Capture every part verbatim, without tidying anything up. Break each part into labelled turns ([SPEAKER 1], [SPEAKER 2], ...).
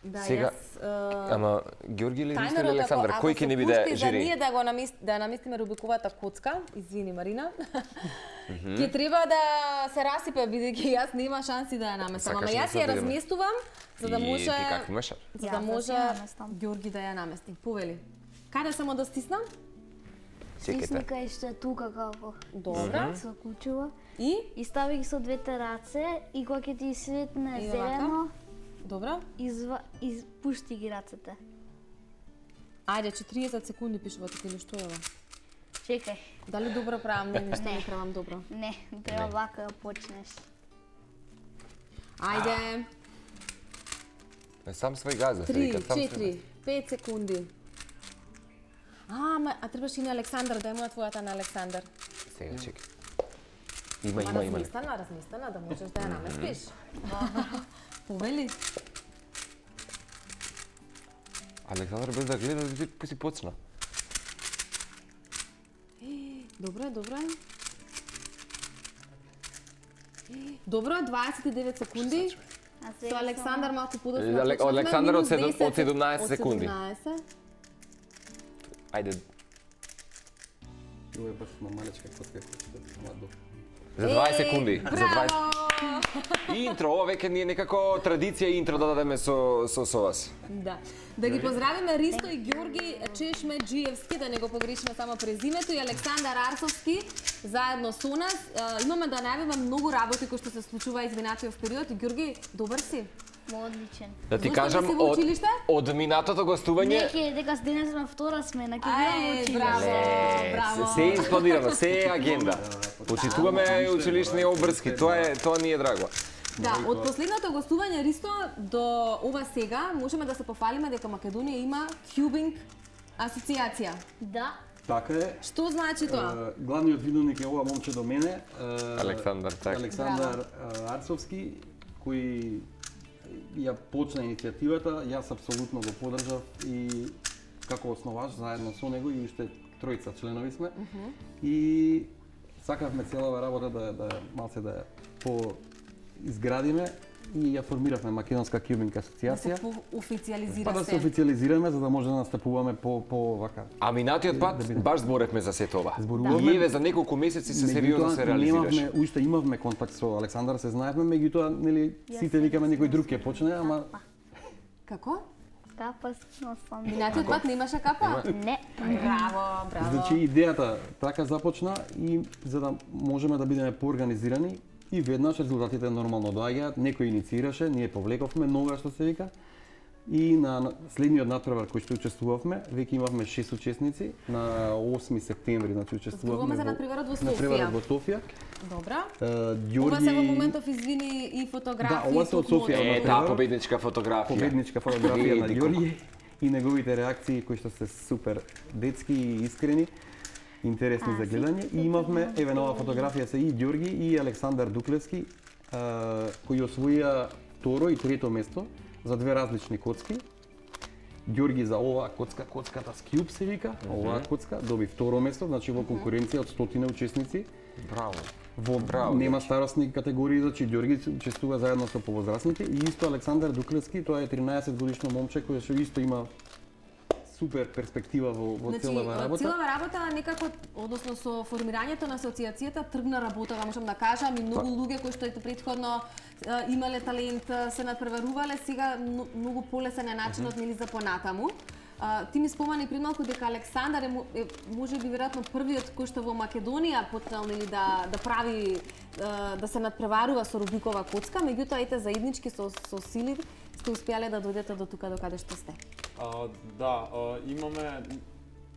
[SPEAKER 1] Да,
[SPEAKER 2] Сега,
[SPEAKER 1] јас,
[SPEAKER 2] ама Ѓорги или Ристо или Александар, кој ќе не биде жири?
[SPEAKER 1] За ние да го намест, да наместиме Рубиковата коцка, извини Марина, ќе треба да се расипе, бидејќи јас нема шанси да ја наместам. Ама јас ја разместувам за да може за да може Ѓорги да ја намести. Повели. Каде само да стиснам?
[SPEAKER 3] Стисника и што е тука како.
[SPEAKER 1] Добра.
[SPEAKER 3] Со кучува.
[SPEAKER 1] И
[SPEAKER 3] и стави ги со двете раце и кога ќе ти светне зелено.
[SPEAKER 1] Добра.
[SPEAKER 3] Изва, изпушти ги рацете.
[SPEAKER 1] Ајде, четириесет секунди пишува тука или што е ова?
[SPEAKER 3] Чекај.
[SPEAKER 1] Дали добро правам? Не, ништо не правам добро.
[SPEAKER 3] Не, треба вака да почнеш.
[SPEAKER 1] Ајде.
[SPEAKER 2] Не сам свој газа,
[SPEAKER 1] три, четири, пет секунди. А, ма, а требаш и на Александар, дај му на твојата на Александар.
[SPEAKER 2] Сега, чекай. Има, има, има.
[SPEAKER 1] Разместена, разместена, да можеш да ја наместиш. Повели.
[SPEAKER 2] Александар без да гледа, да ти си почна.
[SPEAKER 1] Добро, добро. Добро, дваесет и девет секунди. Со Александар малку подоцна.
[SPEAKER 2] Александар од седумнаесет секунди. Ајде.
[SPEAKER 4] Ова е баш малечка котка.
[SPEAKER 2] За дваесет секунди. За дваесет. Интро, ова веќе ни е некако традиција интро да дадеме со со со вас.
[SPEAKER 1] Да. Да ги поздравиме Ристо и Ѓорги Чешмеджиевски, да не го погрешиме само презимето, и Александар Арсовски заедно со нас. Имаме да најавиме многу работи кои што се случува изминатиот период. И Ѓорги, добар си?
[SPEAKER 3] Одличен.
[SPEAKER 2] Да ти кажам, од, од минатото гостување...
[SPEAKER 3] Неке, дека денес сме втора смена, ке бидам во училиште.
[SPEAKER 1] Браво, браво.
[SPEAKER 2] Се е испланирано, се е агенда. Почитуваме училишни обрски, тоа е, тоа ни е драго.
[SPEAKER 1] Да, од последното гостување Ристо до ова сега можеме да се пофалиме дека Македонија има Кјубинг асоциација.
[SPEAKER 3] Да.
[SPEAKER 4] Така е.
[SPEAKER 1] Што значи тоа?
[SPEAKER 4] Главниот видовник е ова момче до мене.
[SPEAKER 2] Александар, така.
[SPEAKER 4] Александар Арцовски, кој ја почна иницијативата, јас апсолутно го поддржав и како основач заедно со него и уште тројца членови сме. Uh -huh. И сакавме целава работа да да малце да по изградиме и ја формиравме Македонска Кјубинг асоциација.
[SPEAKER 1] Да се официализира
[SPEAKER 4] па, да се официализираме за да може да настапуваме по по вака.
[SPEAKER 2] А минатиот пат да баш зборевме за сето ова.
[SPEAKER 4] Зборуваме.
[SPEAKER 2] И еве за неколку месеци се сериозно се реализираше.
[SPEAKER 4] Немавме, уште имавме контакт со Александар, се знаевме, меѓутоа нели сите викаме некој друг ќе почне, ама
[SPEAKER 1] како?
[SPEAKER 3] Капа на сам.
[SPEAKER 1] Минатиот пат немаше капа?
[SPEAKER 3] Не.
[SPEAKER 1] Браво, браво.
[SPEAKER 4] Значи идејата така започна и за да можеме да бидеме поорганизирани и веднаш резултатите нормално доаѓаат, некој инициираше, ние повлековме нога што се вика. И на следниот натпревар кој што учествувавме, веќе имавме шест учесници на осми септември, значи учествувавме.
[SPEAKER 1] Зборуваме за натпреварот во Софија.
[SPEAKER 4] Натпреварот во Софија.
[SPEAKER 1] Добра.
[SPEAKER 4] Ѓорги...
[SPEAKER 1] Ова се во моментов извини и фотографии.
[SPEAKER 4] Да, ова се од Софија.
[SPEAKER 2] Е, таа победничка фотографија.
[SPEAKER 4] Победничка фотографија на Ѓорги и неговите реакции кои што се супер детски и искрени, интересни а, за гледање. И имавме еве на оваа фотографија се и Ѓорги и Александар Дуклевски, кои освоија второ и трето место за две различни коцки. Ѓорги за оваа коцка, коцката Скјуб се вика, mm -hmm. оваа коцка доби второ место, значи во конкуренција од стотина учесници.
[SPEAKER 2] Браво.
[SPEAKER 4] Во
[SPEAKER 2] Браво,
[SPEAKER 4] нема старосни категории, значи Ѓорги учествува заедно со повозрасните и исто Александар Дуклевски, тоа е тринаесет годишно момче кој што исто има супер перспектива во, во
[SPEAKER 1] значи,
[SPEAKER 4] целава работа.
[SPEAKER 1] Целава работа некако, односно со формирањето на асоциацијата тргна работа, да можам да кажам, и многу луѓе кои што ете претходно имале талент, се надпреварувале, сега многу полесен е начинот нели за понатаму. Uh, ти ми спомани пред малку дека Александар е, е може би веројатно првиот кој што во Македонија почнал нели да да прави uh, да се надпреварува со Рубикова коцка, меѓутоа ете заеднички со со сили сте успеале да дојдете до тука до каде што сте.
[SPEAKER 5] Uh, да, uh, имаме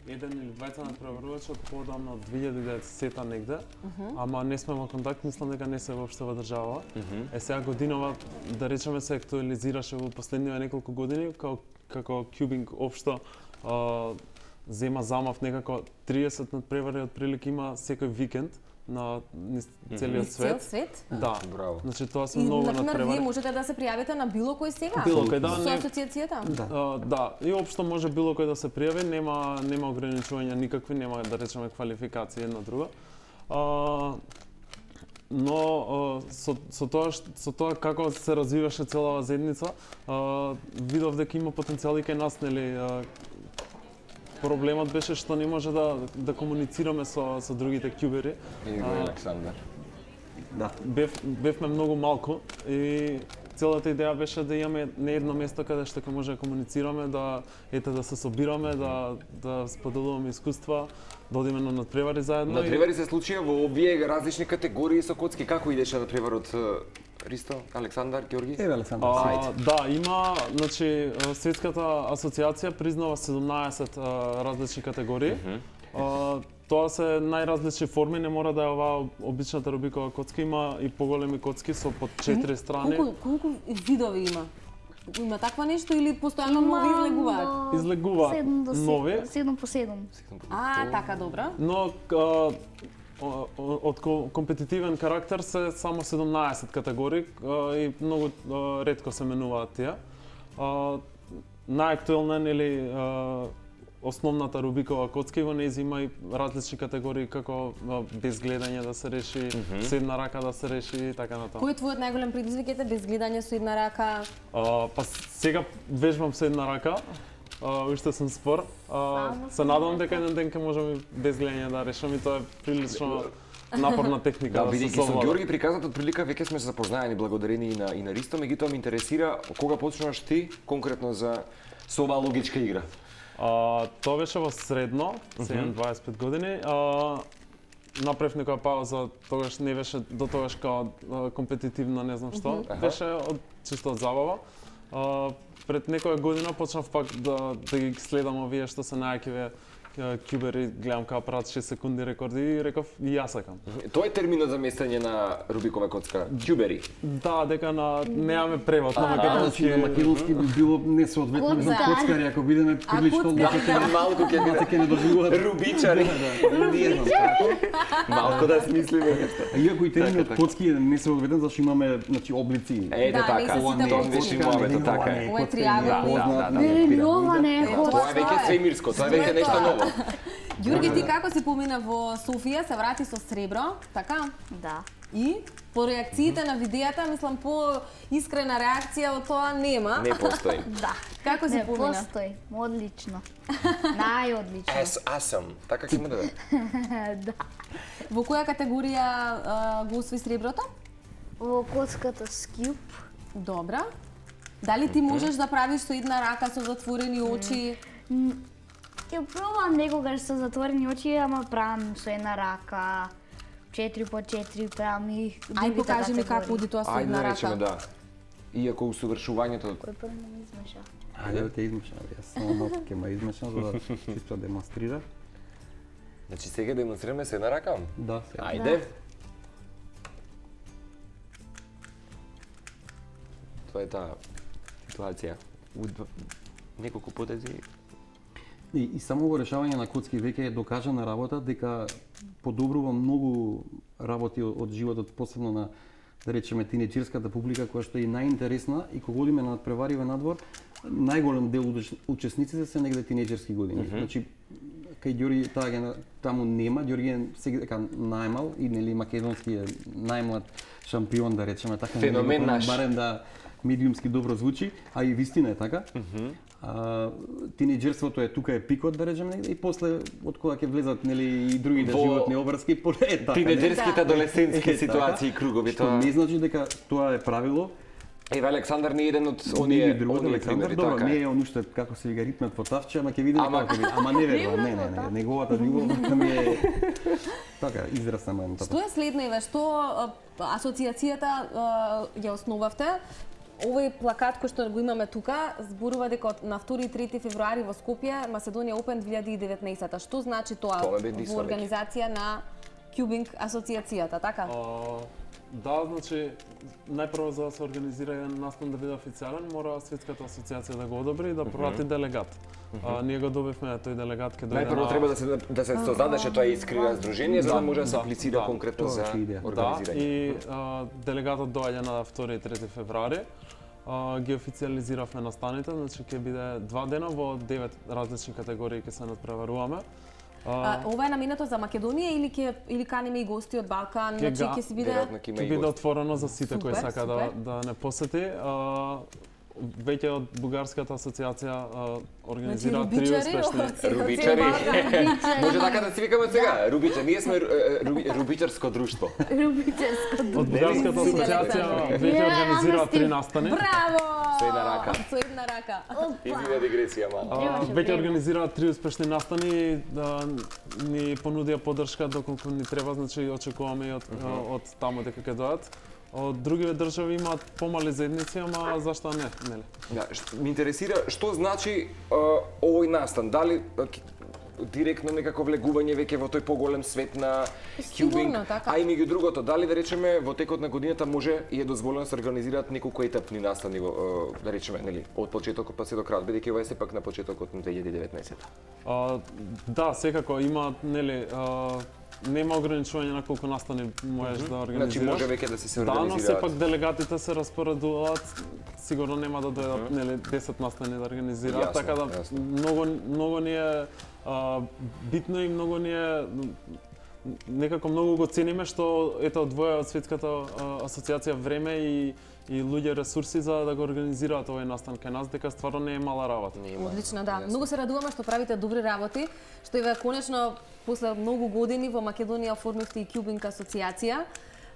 [SPEAKER 5] еден или двајца надпреварувачи од подамно две илјади и деветдесета негде, uh -huh. ама не сме во контакт, мислам дека не се воопште во држава. Uh -huh. Е сега годинова да речеме се актуализираше во последниве неколку години како како Кјубинг општо а, зема замав некако триесет надпревари отприлика има секој викенд на целиот свет.
[SPEAKER 1] Цел свет?
[SPEAKER 5] Да,
[SPEAKER 2] браво.
[SPEAKER 5] Значи тоа се многу надпревари.
[SPEAKER 1] И например вие можете да се пријавите на било кој сега?
[SPEAKER 5] Било кој, да.
[SPEAKER 1] Со асоциацијата?
[SPEAKER 5] Да. А, да, и општо може било кој да се пријави, нема нема ограничувања никакви, нема да речеме квалификации едно друго. А, но а, со, со тоа ш- со тоа како се развиваше целава заедница, а, видов дека има потенцијал и кај нас, нели, а, проблемот беше што не може да да комуницираме со со другите ќубери.
[SPEAKER 2] И го
[SPEAKER 5] А,
[SPEAKER 2] Александар.
[SPEAKER 4] Да.
[SPEAKER 5] Бев, бевме многу малку и целата идеја беше да имаме не едно место каде што ќе може да комуницираме, да ете да се собираме, да да споделуваме искуства, да одиме на надпревари заедно. и-
[SPEAKER 2] Надпревари се случија во овие различни категории со коцки. Како идеше надпреварот Ристо, Александар, Ѓорги?
[SPEAKER 4] Еве Александар.
[SPEAKER 5] А, да, има, значи, Светската асоциација признава седумнаесет а, различни категории. А, тоа се најразлични форми, не мора да е оваа обичната рубикова коцка, има и поголеми коцки со по четири страни.
[SPEAKER 1] Колку колку видови има? Има таква нешто или постојано нови излегуваат?
[SPEAKER 5] Излегува
[SPEAKER 3] седум до
[SPEAKER 5] нови.
[SPEAKER 3] седум по седум.
[SPEAKER 1] А, така, добра.
[SPEAKER 5] Но а, о- о- од ко- компетитивен карактер се само седумнаесет категории а, и многу а, ретко се менуваат тие. А, Најактуелна нели а, основната рубикова коцка и во нејзи има и различни категории како а, без гледање да се реши, со една рака да се реши и така натаму.
[SPEAKER 1] Кој е твојот најголем предизвик ете без гледање со една рака?
[SPEAKER 5] А, па сега вежбам со една рака. А, уште сум спор. А,
[SPEAKER 3] Само
[SPEAKER 5] се
[SPEAKER 3] со
[SPEAKER 5] надевам
[SPEAKER 3] една
[SPEAKER 5] дека еден ден ќе можам и без гледање да решам и тоа е прилично напорна техника
[SPEAKER 2] Да,
[SPEAKER 5] да, се
[SPEAKER 2] бидејќи со
[SPEAKER 5] совлада.
[SPEAKER 2] Ѓорги приказната прилика веќе сме се запознаени благодарение и на и на Ристо, меѓутоа ме интересира кога почнуваш ти конкретно за со оваа логичка игра.
[SPEAKER 5] А, тоа беше во средно, сега имам дваесет и пет години. А, направив некоја пауза, тогаш не беше до тогаш као а, компетитивно, не знам што.
[SPEAKER 2] Аха.
[SPEAKER 5] Беше од чисто од забава. А, пред некоја година почнав пак да да ги следам овие што се најакиве ќубери, гледам како прават шест секунди рекорди и реков и јас сакам.
[SPEAKER 2] Тоа е терминот за местење на рубикова коцка. Ѓубери.
[SPEAKER 5] Да, дека на немаме превод на
[SPEAKER 4] Значи на
[SPEAKER 5] македонски.
[SPEAKER 4] македонски би било несоодветно за
[SPEAKER 3] Коцкари.
[SPEAKER 4] коцкари ако бидеме прилично
[SPEAKER 1] коцкари,
[SPEAKER 4] лоши.
[SPEAKER 1] да.
[SPEAKER 2] Малку ќе
[SPEAKER 4] Мате ќе не доживуваат.
[SPEAKER 2] Рубичари.
[SPEAKER 4] Не знам како.
[SPEAKER 2] Малку да смислиме нешто.
[SPEAKER 4] А иако и терминот
[SPEAKER 2] така.
[SPEAKER 4] коцки е несоодветен зашто имаме значи облици.
[SPEAKER 2] Ете
[SPEAKER 1] Да,
[SPEAKER 2] така.
[SPEAKER 1] не се
[SPEAKER 4] Ова
[SPEAKER 1] сите
[SPEAKER 4] не е
[SPEAKER 2] Тоа
[SPEAKER 1] коцки.
[SPEAKER 2] беше
[SPEAKER 4] коцка,
[SPEAKER 2] мовето,
[SPEAKER 4] не,
[SPEAKER 2] така
[SPEAKER 4] ова
[SPEAKER 2] е.
[SPEAKER 4] не е
[SPEAKER 1] Ова е
[SPEAKER 4] коцка,
[SPEAKER 1] триаголни.
[SPEAKER 4] не познат,
[SPEAKER 2] Да,
[SPEAKER 4] не
[SPEAKER 3] Не,
[SPEAKER 4] разбирам.
[SPEAKER 3] ова не е
[SPEAKER 1] Ето,
[SPEAKER 3] коцка.
[SPEAKER 2] Тоа е веќе свемирско, тоа е веќе нешто ново.
[SPEAKER 1] Ѓорги, ти како си помина во Софија, се врати со сребро, така?
[SPEAKER 3] Да.
[SPEAKER 1] И по реакциите на видеата, мислам по искрена реакција од тоа нема.
[SPEAKER 2] Не постои.
[SPEAKER 3] Да.
[SPEAKER 1] Како си
[SPEAKER 3] Не
[SPEAKER 1] помина?
[SPEAKER 3] постои. Одлично. Најодлично.
[SPEAKER 2] As awesome. Така ќе му даде.
[SPEAKER 3] Да.
[SPEAKER 1] Во која категорија а, го освои среброто?
[SPEAKER 3] Во коцката скип.
[SPEAKER 1] Добра. Дали ти можеш да правиш со една рака со затворени очи?
[SPEAKER 3] Ќе пробам некогаш со затворени очи, ама правам со една рака. четири по четири правам и
[SPEAKER 1] Ај
[SPEAKER 3] другите
[SPEAKER 1] покажи ми
[SPEAKER 3] категории.
[SPEAKER 1] како оди тоа со
[SPEAKER 2] Ајде
[SPEAKER 1] една
[SPEAKER 2] да речеме
[SPEAKER 1] рака.
[SPEAKER 2] да. Иако усовршувањето
[SPEAKER 3] Кој прв ме измеша?
[SPEAKER 4] Ајде да те измешам, јас само малку ќе ме измешам за да чисто демонстрира.
[SPEAKER 2] Значи сега демонстрираме се една рака.
[SPEAKER 4] Да, сега.
[SPEAKER 2] Ајде. Тоа е таа ситуација. Од неколку потези.
[SPEAKER 4] И, и само во решавање на коцки веќе е докажана работа дека подобрува многу работи од, од животот, посебно на да речеме тинеџерската публика која што е и најинтересна и кога одиме на надпревариве надвор, најголем дел од учесниците се негде тинеџерски години. Mm -hmm. Значи кај Ѓорги таа ге таму нема, Ѓорги е сега дека најмал и нели македонски е најмлад шампион да речеме така.
[SPEAKER 2] Феномен
[SPEAKER 4] нели,
[SPEAKER 2] наш.
[SPEAKER 4] Барем да медиумски добро звучи, а и вистина е така. Mm -hmm. А, тинеџерството е тука е пикот да речеме негде и после од кога ќе влезат нели и другите
[SPEAKER 2] Во
[SPEAKER 4] животни обврски поле е така.
[SPEAKER 2] Тинеџерските
[SPEAKER 1] Да.
[SPEAKER 2] адолесцентски
[SPEAKER 4] Е, така.
[SPEAKER 2] ситуации и кругови
[SPEAKER 4] Што
[SPEAKER 2] тоа.
[SPEAKER 4] не значи дека тоа е правило.
[SPEAKER 2] Еве Александар не е еден од
[SPEAKER 4] Оние
[SPEAKER 2] оние
[SPEAKER 4] другото
[SPEAKER 2] оние
[SPEAKER 4] Александар,
[SPEAKER 2] примери,
[SPEAKER 4] добро,
[SPEAKER 2] така
[SPEAKER 4] не
[SPEAKER 2] е.
[SPEAKER 4] е он уште како се вика ритмет во тавче, ама ќе видиме
[SPEAKER 2] Ама-
[SPEAKER 4] како ќе биде. Ама не верувам, не, не, не, неговата љубов ми е така израз само едната.
[SPEAKER 1] Што е следно, Еве, што а, асоциацијата а, ја основавте? Овој плакат кој што го имаме тука зборува дека од- на втори и трети февруари во Скопје Македонија Open две илјади и деветнаесета. Што значи тоа
[SPEAKER 2] Тоа ме бедисва
[SPEAKER 1] во
[SPEAKER 2] веќе.
[SPEAKER 1] организација на Cubing асоциацијата, така?
[SPEAKER 5] А, да, значи, најпрво за да се организира еден настан да биде официјален, мора Светската асоциација да го одобри и да прати делегат. А, ние го добивме, тој делегат ќе дојде
[SPEAKER 2] Најпрво
[SPEAKER 5] на...
[SPEAKER 2] треба да се да се создадеше тоа искрено здружение за да
[SPEAKER 5] Да,
[SPEAKER 2] може да се
[SPEAKER 5] да,
[SPEAKER 2] аплицира
[SPEAKER 5] да.
[SPEAKER 2] конкретно
[SPEAKER 4] Тоа
[SPEAKER 2] за
[SPEAKER 4] е идеја.
[SPEAKER 5] Да,
[SPEAKER 2] организирање.
[SPEAKER 5] и а, делегатот доаѓа на втори и трети февруари. А, ги официализиравме настаните, значи ќе биде два дена во девет различни категории ќе се надпреваруваме.
[SPEAKER 1] А, ова е наменето за Македонија или ќе или каниме и гости од Балкан,
[SPEAKER 5] Ќе
[SPEAKER 1] значи
[SPEAKER 5] га-
[SPEAKER 1] ќе си биде
[SPEAKER 2] Веројатно ќе има
[SPEAKER 5] Ќе
[SPEAKER 2] и
[SPEAKER 5] биде
[SPEAKER 2] гости.
[SPEAKER 5] отворено за сите кои
[SPEAKER 1] Супер,
[SPEAKER 5] сака да,
[SPEAKER 1] супер.
[SPEAKER 5] да не посети. А, веќе од Бугарската асоциација а, организира
[SPEAKER 1] Значи,
[SPEAKER 5] три
[SPEAKER 1] рубичари,
[SPEAKER 5] успешни
[SPEAKER 1] од-
[SPEAKER 2] Рубичари.
[SPEAKER 3] Рубичари.
[SPEAKER 2] Може така да си викаме сега, Рубича. Ние сме е, руби- рубичарско друштво.
[SPEAKER 3] Рубичарско
[SPEAKER 5] од Бугарската
[SPEAKER 1] Нели?
[SPEAKER 5] асоциација
[SPEAKER 1] Александре.
[SPEAKER 5] веќе
[SPEAKER 3] Ја,
[SPEAKER 5] организира
[SPEAKER 3] ама
[SPEAKER 5] три
[SPEAKER 3] стиг.
[SPEAKER 5] настани.
[SPEAKER 1] Браво!
[SPEAKER 2] Со една рака.
[SPEAKER 1] Со една рака.
[SPEAKER 2] Извини дигресија, мала.
[SPEAKER 5] А,
[SPEAKER 3] Требаше
[SPEAKER 5] веќе
[SPEAKER 3] време.
[SPEAKER 5] организира три успешни настани, да ни понудија поддршка доколку ни треба, значи очекуваме и од, од таму дека ќе дојдат. Од другиве држави имаат помали заедници, ама зашто не, нели?
[SPEAKER 2] Да, ш- ми интересира што значи а, овој настан. Дали а, ки- директно некако влегување веќе во тој поголем свет на
[SPEAKER 1] Сигурно,
[SPEAKER 2] кјубинг,
[SPEAKER 1] така.
[SPEAKER 2] а и меѓу другото, дали да речеме во текот на годината може и е дозволено да се организираат неколку етапни настани во, а, да речеме, нели, од почетокот па се до крај, бидејќи ова е сепак на почетокот на две илјади и деветнаесетта.
[SPEAKER 5] А, да, секако има, нели, а, нема ограничување на колку настани можеш да организираш.
[SPEAKER 2] Значи може веќе да се се
[SPEAKER 5] Да, но
[SPEAKER 2] организираат.
[SPEAKER 5] сепак делегатите се распоредуваат, сигурно нема да дојдат, нели, десет настани да организираат,
[SPEAKER 2] Јасно,
[SPEAKER 5] така да
[SPEAKER 2] јасно.
[SPEAKER 5] многу многу ни е а, битно и многу ни е некако многу го цениме што ето одвоја од светската а, асоциација време и и луѓе ресурси за да го организираат овој настан кај нас, дека стварно не е мала работа.
[SPEAKER 1] Одлично, да.
[SPEAKER 2] Јасно.
[SPEAKER 1] Многу се радуваме што правите добри работи, што еве конечно после многу години во Македонија оформивте и Кјубинг асоциација.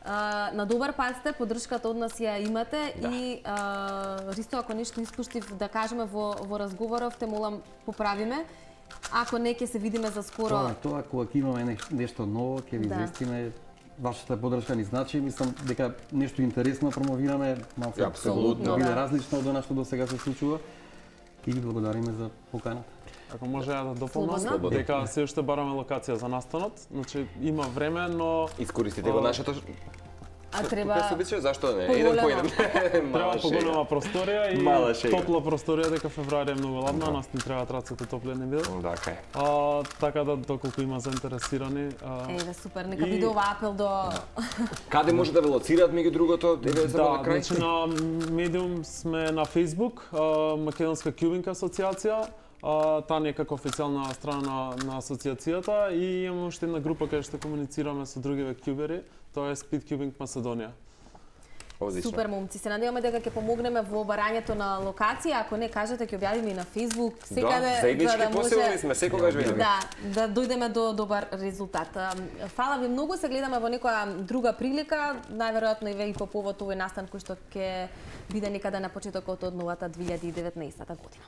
[SPEAKER 1] А, на добар пат сте, поддршката од нас ја имате
[SPEAKER 2] Да.
[SPEAKER 1] и а, Ристо, ако нешто испуштив да кажеме во во разговоров, те молам поправиме. Ако не ќе се видиме за скоро.
[SPEAKER 4] Тоа, тоа кога ќе имаме неш- нешто ново, ќе ви
[SPEAKER 1] Да.
[SPEAKER 4] известиме. Вашата поддршка ни значи, мислам дека нешто интересно промовираме, малку
[SPEAKER 2] Апсолутно,
[SPEAKER 4] да биде
[SPEAKER 1] да.
[SPEAKER 4] различно од она што до сега се случува. И ви благодариме за поканата.
[SPEAKER 5] Ако може ја да дополнам,
[SPEAKER 1] Слободно.
[SPEAKER 5] дека се уште бараме локација за настанот, значи има време, но
[SPEAKER 2] Искористите го
[SPEAKER 5] А,
[SPEAKER 2] нашето
[SPEAKER 1] А треба
[SPEAKER 2] Тука се обича, зашто не? Еден по
[SPEAKER 1] поголемо.
[SPEAKER 2] еден.
[SPEAKER 5] треба
[SPEAKER 2] Мала шега.
[SPEAKER 5] поголема просторија и
[SPEAKER 2] Мала шега.
[SPEAKER 5] топла просторија, дека февруари е многу ладно, а нас ни требаат рацете топли не бидат.
[SPEAKER 2] Да, кај.
[SPEAKER 5] А, така да доколку има заинтересирани, а,
[SPEAKER 1] Еве супер, нека
[SPEAKER 5] И-
[SPEAKER 1] биде ова апел до
[SPEAKER 2] Каде може да ве лоцираат меѓу другото? Еве за
[SPEAKER 5] да,
[SPEAKER 2] на крај.
[SPEAKER 5] значи на Medium сме на Facebook, а, Македонска Кјубинг асоциација, а, таа е како официјална страна на, на асоциацијата и имаме уште една група каде што комуницираме со другиве кјубери, тоа е Speed Cubing Македонија.
[SPEAKER 2] Одлично.
[SPEAKER 1] Супер момци, се надеваме дека ќе помогнеме во барањето на локација, ако не кажете ќе објавиме и на Facebook, секаде
[SPEAKER 2] Да, заеднички
[SPEAKER 1] за да
[SPEAKER 2] посилни
[SPEAKER 1] може
[SPEAKER 2] сме, секогаш видиме.
[SPEAKER 1] да, да дојдеме до добар резултат. Ам, Фала ви многу, се гледаме во некоја друга прилика, најверојатно и ве и по повод овој настан кој што ќе биде некаде на почетокот од новата две илјади и деветнаесетта година.